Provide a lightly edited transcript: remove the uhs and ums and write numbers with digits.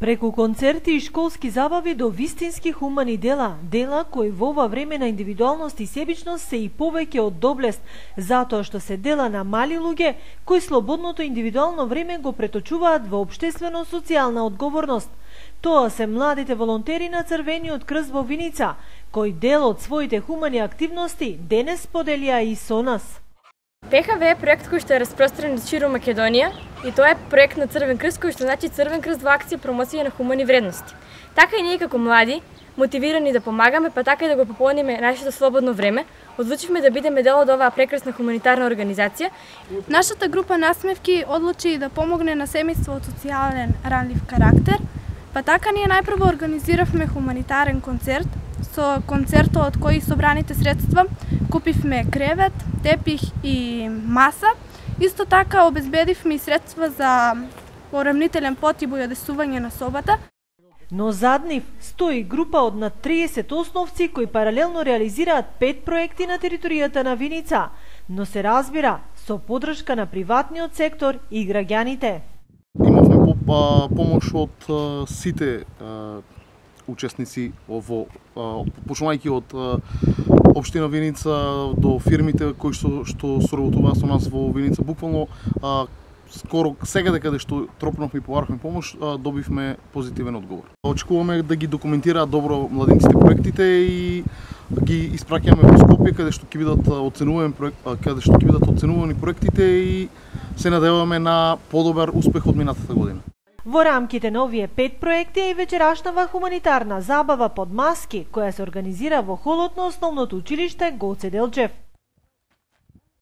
Преку концерти и школски забави до вистински хумани дела кои во ова време на индивидуалност и себичност се и повеќе од доблест, затоа што се дела на мали луѓе кои слободното индивидуално време го преточуваат во општествено-социјална одговорност. Тоа се младите волонтери на Црвениот крст во Виница, кои дел од своите хумани активности денес споделија и со нас. ПХВ е проект кој што е распространет ширум Македонија и тоа е проект на Црвен крст кој што значи Црвен крст во акција промоција на хумани вредности. Така и ние како млади, мотивирани да помагаме, па така и да го пополниме нашето слободно време, одлучивме да бидеме дел од оваа прекрасна хуманитарна организација. Нашата група насмевки одлучи да помогне на семејство од социјален ранлив карактер, па така ние најпрво организиравме хуманитарен концерт. Со концертот од кој собраните средства купивме кревет, тепих и маса. Исто така обезбедивме и средства за поравнителен потиб и одесување на собата. Но зад нив стои група од над 30 основци кои паралелно реализираат 5 проекти на територијата на Виница, но се разбира со подршка на приватниот сектор и граѓаните. Имавме помош од сите учесници почнувајќи од општина Виница до фирмите кои што соработуваат со нас во Виница. Буквално скоро секаде каде што тропнавме и побарахме помош, добивме позитивен одговор. Очекуваме да ги документираат добро младинците проектите и ги испраќаме во Скопје каде што ќе бидат оценувани проектите и се надеваме на подобар успех од минатата година. Во рамките на овие 5 проекти е и вечерашнава хуманитарна забава под маски, која се организира во холот на основното училиште Гоце Делчев.